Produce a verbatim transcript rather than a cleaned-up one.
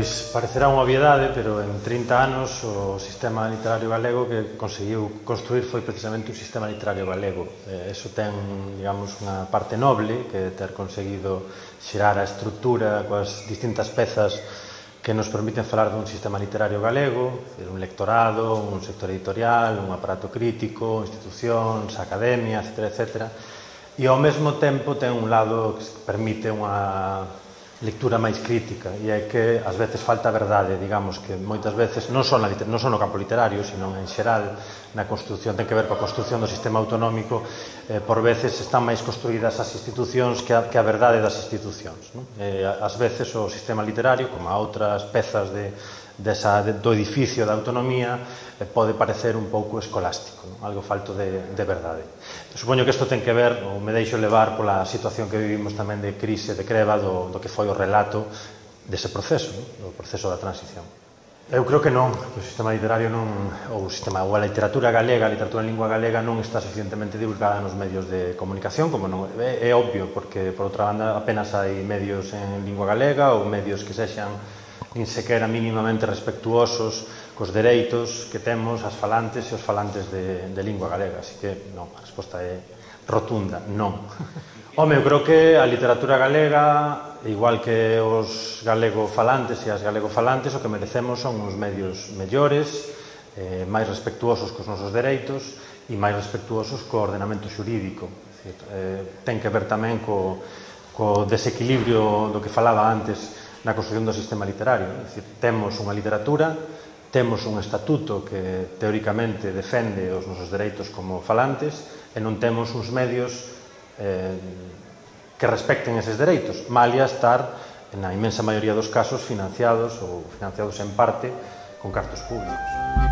Pois parecerá unha obviedade, pero en trinta anos o sistema literario galego que conseguiu construir foi precisamente un sistema literario galego. Eh, eso ten, digamos, unha parte noble, que ter conseguido xerar a estrutura coas distintas pezas que nos permiten falar dun sistema literario galego, un lectorado, un sector editorial, un aparato crítico, institucións, academia, etcétera, etcétera. E ao mesmo tempo ten un lado que permite unha lectura máis crítica, e é que ás veces falta a verdade, digamos, que moitas veces non só no campo literario, sino en xeral na construción, ten que ver coa construción do sistema autonómico, eh, por veces están máis construídas as institucións que a, que a verdade das institucións, non? Eh, ás veces o sistema literario, como a outras pezas de, desa, de, do edificio da autonomía, eh, pode parecer un pouco escolástico, non? Algo falto de, de verdade. Supoño que isto ten que ver, ou me deixo levar pola situación que vivimos tamén de crise, de creba, do, do que foi o relato dese proceso, non? Do proceso da transición. Eu creo que non, que o sistema literario non, ou o sistema, ou a literatura galega, a literatura en lingua galega non está suficientemente divulgada nos medios de comunicación, como non é, é obvio, porque, por outra banda, apenas hai medios en lingua galega ou medios que sexan nin sequera mínimamente respectuosos cos dereitos que temos as falantes e os falantes de, de lingua galega. Así que, non, a resposta é rotunda, non. Home, eu creo que a literatura galega, igual que os galego-falantes e as galego-falantes, o que merecemos son uns medios mellores, eh, máis respectuosos cos nosos dereitos e máis respectuosos co ordenamento xurídico. Decir, eh, ten que ver tamén co, co desequilibrio do que falaba antes na construción do sistema literario. É dicir, temos unha literatura, temos un estatuto que teóricamente defende os nosos dereitos como falantes e non temos uns medios eh, que respecten eses dereitos, malia estar, na inmensa maioría dos casos, financiados ou financiados en parte con cartos públicos.